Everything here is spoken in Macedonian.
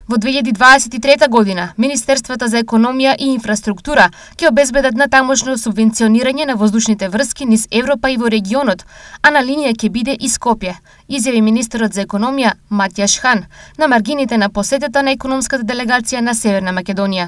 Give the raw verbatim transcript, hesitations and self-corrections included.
Во две илјади дваесет и трета година, Министерствата за економија и инфраструктура ќе обезбедат натамошно субвенционирање на воздушните врски низ Европа и во регионот, а на линија ќе биде и Скопје, изјави министерот за економија Матјаш Хан на маргините на посетата на економската делегација на Северна Македонија.